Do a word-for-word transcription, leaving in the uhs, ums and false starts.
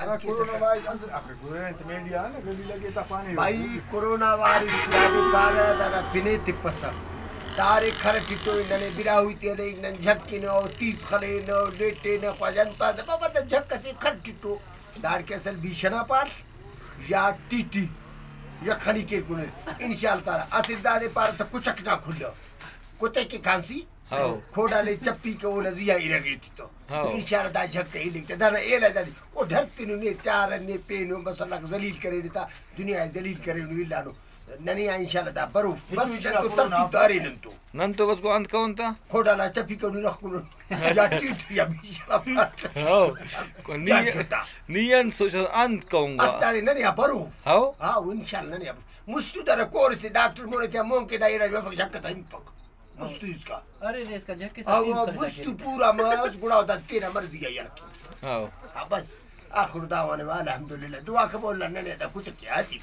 ہرا کرونا وائرس اندر آخر گڑا انت میڈیا نا گلی لگے تا پانے بھائی، کرونا وائرس دادے پارہ، دانا پن ءِ تپسہ۔ دارے کھر ٹٹو، ننے براہوئی تینے، نن جھکینہ، او تیس خلینہ، او لیٹینہ، خواجہ انت پاس بابا دا جھک اسے کھر ٹٹو۔ داڑکہ اصل بیشہ نا پال یا ٹی ٹی یخنی کیر کنے۔ انشاءاللہ تعالی اسل دادے پارہ تہ کچک نا کھلہ۔ کتے کہ کھانسی، ہاؤ۔ کھوڈا لے چپی کہ اونا زیہا ارغے تتو۔ ہاؤ۔ انشاءاللہ دا جھک ءِ ہلنگ تہ دانا علاج دادے۔ او ڈر تنو نے چارہ نے پینو بس اللہ ذلیل کرینے تا دنیا ءِ ذلیل کرینو الانو۔ ننے آ انشاءاللہ دا بروف۔ بس نن تو ترتیب دارے نن تو۔ نن تو بس گو انت کون تا؟ کھوڈا نا چپی کنو رخ کنو۔ یا ٹیٹ یا بیشڑا پاٹ۔ ہاؤ۔ نی، یا جھٹا۔ نی انت سوچ انت کون گا؟ اس دادے ننے آ بروف۔ ہاؤ۔ ہاؤ، انشاءاللہ ننے آ بروف۔ مستو دانا کور سے ڈاکٹر مونے تیا مون کے دا علاج مفک جھک تا ہنپک۔ مستو اس کا۔ ارے ریس کا جھک کے ساتھ او تین سال مستو جاکے۔ پورا مس گڑا دا تینا مرضی آ یار کی۔ ہاؤ۔ ہاں بس۔ آخر دعوانا الحمدللہ۔ دعا قبول اللہ ننے دا کچھ کیا سی۔